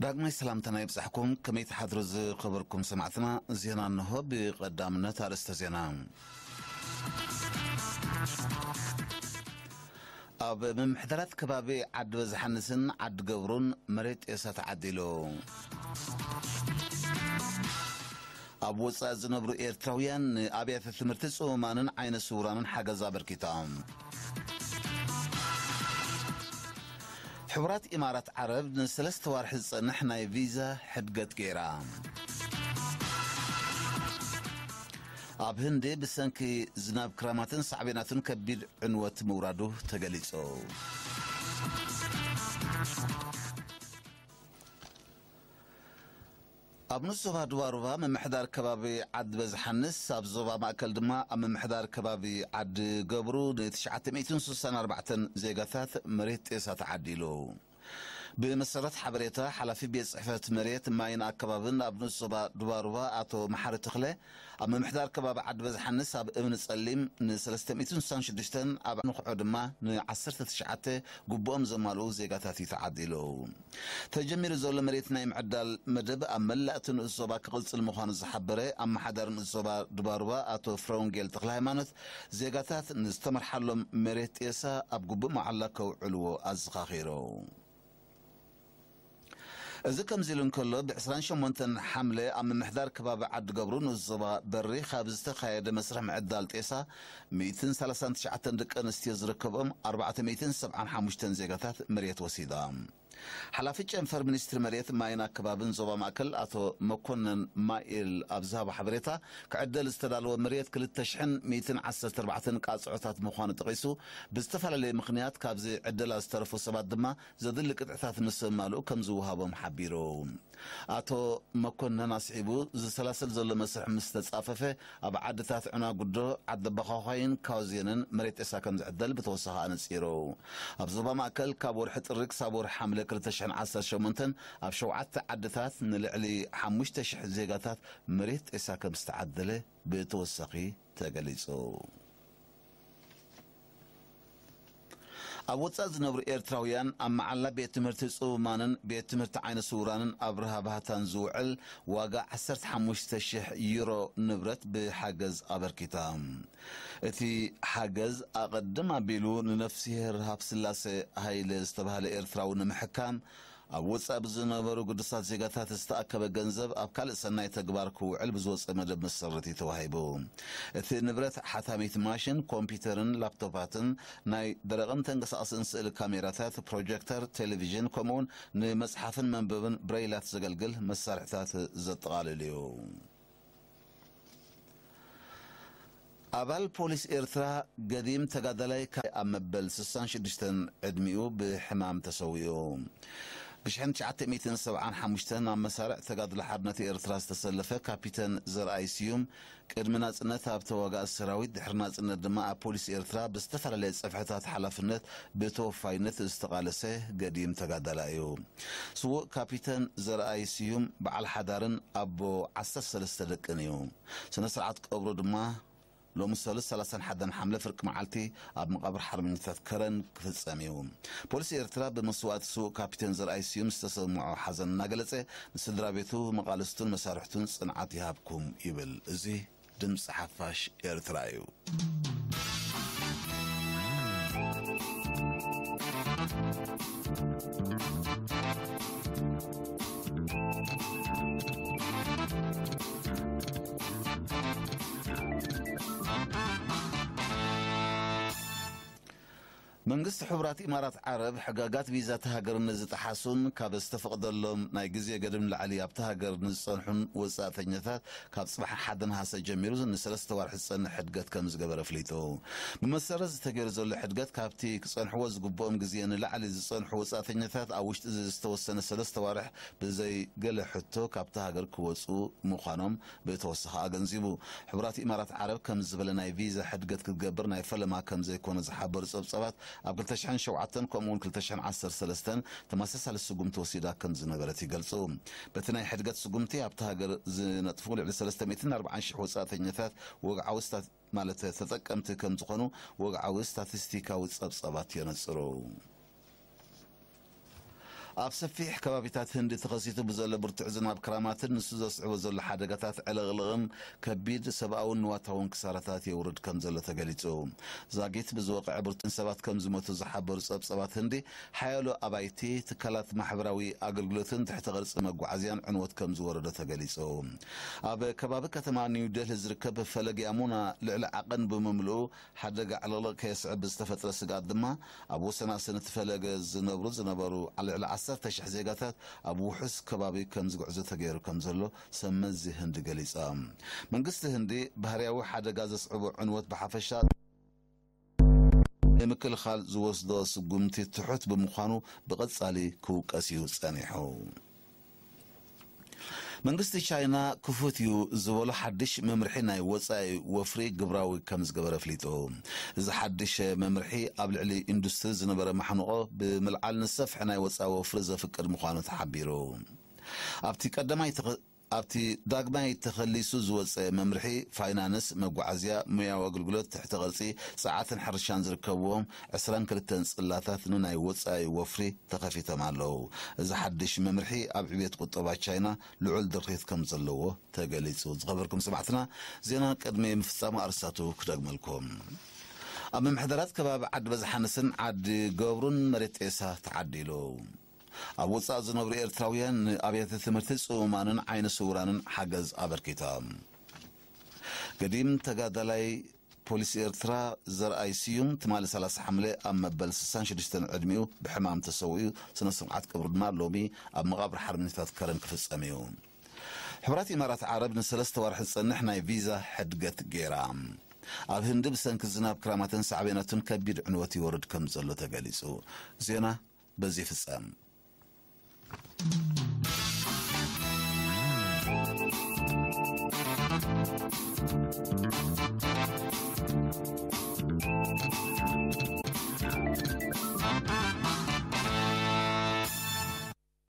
ዳግማይ ሰላምታና ይብጻሕኩም። ከመይ ትሓድሩ ዝኸበርኩም ሰማዕትና? ዜና እንሆ። ብቐዳምነት ኣርእስተ ዜና። ኣብ ምምሕዳራት ከባቢ ዓዲ በዝሓንስን ዓዲ ገብሩን መሬት ጤሳ ተዓዲሉ። ኣብ ወጻኢ ዝነብሩ ኤርትራውያን ንኣብያተ ትምህርቲ ጽሙማንን ዓይነ ስውራንን ሓገዝ ኣበርኪቶም። ሕቡራት ኢማራት ዓረብ ንሰለስተ ዋርሒ ዝጸንሕ ናይ ቪዛ ሕድገት ገይራ። ኣብ ህንዲ ብሰንኪ ዝናብ ክራማትን ሳዕቤናቱን ከቢድ ዕንወት ምውራዱ ተገሊጹ። ኣብ ንኡስ ዞባ ዱባሩባ ምምሕዳር ከባቢ ዓዲ በዝሓንስ፣ ኣብ ዞባ ማእከል ድማ ኣብ ምምሕዳር ከባቢ ዓዲ ገብሩ ን964 ዜጋታት መሬት ጤሳ ተዓዲሉ። ብመሰረት ሓበሬታ ሓላፊ ቤት ጽሕፈት መሬት ማይን ኣከባብን ኣብ ንኡስ ዞባ ዱባሩባ ኣቶ መሓሪ ተኽለ፣ ኣብ ምምሕዳር ከባቢ ዓዲ በዝሓንስ ኣብ እምኒ ጸሊም ን366፣ ኣብ ንኽዖ ድማ ን19 ግቡኦም ዘማልኡ ዜጋታት እዩ ተዓዲሉ። ተጀሚሩ ዘሎ መሬት ናይ ምዕዳል መደብ ኣብ መላእ እቲ ንኡስ ዞባ ክቕጽል ምዃኑ ዝሓበረ ኣመሓዳሪ ንኡስ ዞባ ዱባሩባ ኣቶ ፍረወንጌል ተኽለ ሃይማኖት፣ ዜጋታት ንዝተመርሓሎም መሬት ጤሳ ኣብ ግቡእ መዓላ ከውዕልዎ ኣዘኻኺሩ። እዚ ከምዚ ኢሉ እንከሎ፣ ብ28 ሓምለ ኣብ ምምሕዳር ከባቢ ዓዲ ገብሩ ንኡስ ዞባ በሪ ካብ ዝተኻየደ መስርሕ ምዕዳል ጤሳ 139 ደቂ ኣንስትዮ ዝርከቦም 475 ዜጋታት መሬት ወሲዶም። ሓላፊ ጨንፈር ሚኒስትሪ መሬት ማይን ኣከባብን ዞባ ማእከል ኣቶ መኮነን ማኤል ኣብ ዝሃቦ ሓበሬታ፣ ክዕደል ዝተዳለወ መሬት 2,114 ቃጽዖታት ምዃኑ ጠቒሱ፣ ብዝተፈላለየ ምኽንያት ካብዚ ዕደላ ዝተረፉ ሰባት ድማ ዘድሊ ቅጥዕታት ምስ ዘማልኡ ከም ዝወሃቦም ሓቢሩ። ኣቶ መኮነን ኣስዒቡ፣ ዝሰላሰል ዘሎ መስርሕ ምስ ተጻፈፈ፣ ኣብ ዓድታት ዕናጉዶ፣ ዓዲ በዃዃይን ካውዜንን መሬት ጤሳ ከም ዝዕደል ብተወሳኺ ኣነጺሩ። ኣብ ዞባ ማእከል ካብ ወርሒ ጥሪ ክሳብ ወርሒ ሓምለ 2018 ኣብ ሸውዓተ ዓድታት ንልዕሊ 5,000 ዜጋታት መሬት ጤሳ ከም ዝተዓደለ ብተወሳኺ ተገሊጹ። ኣብ ወጻኢ ዝነብሩ ኤርትራውያን ኣብ መዓላ ቤት ትምህርቲ ጽሙማንን ቤት ትምህርቲ ዓይነ ስውራንን ኣብርሃ ባህታን ዝውዕል ዋጋ 15,000 ዩሮ ንብረት ብሓገዝ ኣበርኪታ። እቲ ሓገዝ ኣቐድም ኣቢሉ ንነፍስሄር ሃብስላሴ ሃይለ ዝተባህለ ኤርትራዊ ንምሕካም ኣብ ወጻኢ ብዝነበሩ ግዱሳት ዜጋታት ዝተኣከበ ገንዘብ ኣብ ካልእ ሰናይ ተግባር ክውዕል ብዝወጸ መደብ መሰረት እዩ ተዋሂቡ። እቲ ንብረት ሓታሚት ማሽን፣ ኮምፒውተርን ላፕቶፓትን፣ ናይ ደረቕን ተንቀሳቐስን ስእሊ ካሜራታት፣ ፕሮጀክተር፣ ቴሌቪዥን፣ ከምኡውን ንመጽሓፍን መንበብን ብሬይላት ዘገልግል መሳርሕታት ዘጠቓልል እዩ። ኣባል ፖሊስ ኤርትራ ገዲም ተጋዳላይ ካ-፣ ኣብ መበል 66 ዕድሚኡ ብሕማም ተሰዊኡ። ብ1975 ኣብ መሳርዕ ተጋድሎ ሓርነት ኤርትራ ዝተሰለፈ ካፒተን ዘርኣይ ስዩም፣ ቅድሚ ናጽነት ኣብ ተዋጋኢ ሰራዊት፣ ድሕሪ ናጽነት ድማ ኣብ ፖሊስ ኤርትራ ብዝተፈላለየ ጽፍሕታት ሓላፍነት ብተወፋይነት ዝተቓለሰ ገዲም ተጋዳላይ እዩ። ስዉእ ካፒተን ዘርኣይ ስዩም በዓል ሓዳርን ኣቦ 13 ደቅን እዩ። ስነ ስርዓት ቀብሩ ድማ ሎሚ ሰሉስ 31 ሓምለ ፍርቂ መዓልቲ ኣብ መቓብር ሓርበኛታት ከረን ክፍጸም እዩ። ፖሊስ ኤርትራ ብመስዋእቲ ስዉእ ካፒቴን ዘርኣይ ስዩም ዝተሰምዖ ሓዘን እናገለጸ፣ ንስድራ ቤቱ፣ መቓልስቱን መሳርሕቱን ጽንዓት ይሃብኩም ይብል። እዚ ድምጺ ሓፋሽ ኤርትራ እዩ። መንግስቲ ሕቡራት ኢማራት ዓረብ ሕጋጋት ቪዛ እታ ሃገር ንዝጠሓሱን ካብ ዝተፈቕደሎም ናይ ግዜ ገደብ ንላዕሊ ኣብታ ሃገር ንዝጸንሑን ወጻእተኛታት ካብ ጽባሕ ሓደ ነሓሰ ጀሚሩ ንሰለስተ ዋርሒ ዝጸንሕ ሕድገት ከም ዝገበረ ኣፍሊጡ። ብመሰረት ዝተገይሩ ዘሎ ሕድገት፣ ካብቲ ክጸንሕዎ ዝግብኦም ግዜ ንላዕሊ ዝጸንሑ ወጻእተኛታት ኣብ ውሽጢ ዝተወሰነ ሰለስተ ዋርሕ ብዘይ ገለ ሕቶ ካብታ ሃገር ክወጹ ምዃኖም ብተወሳኺ ኣገንዚቡ። ሕቡራት ኢማራት ዓረብ ከም ዝበለ ናይ ቪዛ ሕድገት ክትገብር ናይ ፈለማ ከም ዘይኮነ ዝሓበሩ ጸብጻባት፣ ኣብ 2007 ከምኡ እውን 2013 ተመሳሳሊ ስጉምቲ ወሲዳ ከም ዝነበረት ይገልጹ። በቲ ናይ ሕድገት ስጉምቲ ኣብታ ሃገር ዝነጥፉ ልዕሊ 340,000 ወጻእተኛታት ወግዓዊ ስታት-፣ ማለት ተጠቀምቲ ከም ዝኾኑ ወግዓዊ ስታቲስቲካዊ ጸብጻባት የነጽሩ። ኣብ ሰፊሕ ከባቢታት ህንዲ ተኸሲቱ ብዘሎ ብርቱዕ ዝናብ ክራማትን ንሱ ዘስዕቦ ዘሎ ሓደጋታት ዕልቕልቕን ከቢድ ሰብኣውን ንዋታውን ክሳራታት የውርድ ከም ዘሎ ተገሊጹ። ዛጊት ብዝወቕዐ ብርቱዕ ሰባት ከም ዝሞቱ ዝሓበሩ ጸብጸባት ህንዲ፣ ሓያሎ ኣባይቲ፣ ትካላት ማሕበራዊ ኣገልግሎትን ትሕቲ ቅርጺ መጓዓዝያን ዕንወት ከም ዝወረዶ ተገሊጹ። ኣብ ከባቢ ከተማ ኒው ደልሂ ዝርከብ ፈለግ ያሙና ልዕሊ ዓቐን ብምምልኡ ሓደጋ ዕልቕልቕ ከየስዕብ ብዝተፈጥረ ስግኣት ድማ፣ ኣብ ወሰናስን እቲ ፈለገ ዝነብሩ ዝነበሩ ልዕሊ ዓሰርተ ሽሕ ዜጋታት ኣብ ውሑስ ከባቢ ከም ዝጉዕዙ ተገይሩ ከም ዘሎ ሰብ መዚ ህንዲ ገሊጻ። መንግስቲ ህንዲ፣ ባህርያዊ ሓደጋ ዘስዕቦ ዕንወት ብሓፈሻ ንምክልኻል ዝወስዶ ስጉምቲ ትሑት ብምዃኑ፣ ብቐጻሊ ክውቀስ እዩ ጸኒሑ። መንግስቲ ቻይና ክፉት እዩ ዝበሎ ሓድሽ መምርሒ ናይ ወጻኢ ወፍሪ ግብራዊ ከም ዝገበረ ኣፍሊጡ። እዚ ሓድሽ መምርሒ ኣብ ልዕሊ ኢንዱስትሪ ዝነበረ ማሕንቖ ብምልዓል፣ ንሰፍሒ ናይ ወጻኢ ወፍሪ ዘፍቅድ ምዃኑ ተሓቢሩ። ኣብቲ ቀዳማይ ተኸ-፣ ኣብቲ ዳግማይ ተኸሊሱ ዝወጸ መምርሒ፣ ፋይናንስ፣ መጓዓዝያ፣ ሙያዊ ኣገልግሎት፣ ትሕቲ ቅርጺ፣ ጸዓትን ሕርሻን ዝርከብዎም ዕስራን ክልተን ጽላታት ንናይ ወጻኢ ወፍሪ ተኸፊቶም ኣለዉ። እዚ ሓድሽ መምርሒ ኣብ ዕብየት ቁጠባ ቻይና ልዑል ድርኺት ከም ዘለዎ ተገሊጹ። ዝኸበርኩም ሰማዕትና፣ ዜና ቅድሚ ምፍጻሙ ኣርስታቱ ክደግመልኩም። ኣብ ምምሕዳራት ከባቢ ዓዲ በዝሓንስን ዓዲ ገብሩን መሬት ጤሳ ተዓዲሉ። ኣብ ወጻኢ ዝነብሩ ኤርትራውያን ንኣብያተ ትምህርቲ ጽሙማንን ዓይነ ስውራንን ሓገዝ ኣበርኪቶም። ገዲም ተጋዳላይ ፖሊስ ኤርትራ ዘርኣይ ስዩም ትማሊ ሰላሳ ሓምለ ኣብ መበል ስሳን ሽዱሽተን ዕድሚኡ ብሕማም ተሰዊኡ፣ ስነ ስርዓት ቀብሩ ድማ ሎሚ ኣብ መቓብር ሓርበኛታት ከረን ክፍጸም እዩ። ሕቡራት ኢማራት ዓረብ ንሰለስተ ወርሒ ዝጸንሕ ናይ ቪዛ ሕድገት ገይራ። ኣብ ህንዲ ብሰንኪ ዝናብ ክራማትን ሳዕቤናቱን ከቢድ ዕንወት ይወርድ ከም ዘሎ ተገሊጹ። ዜና በዚ ይፍጸም።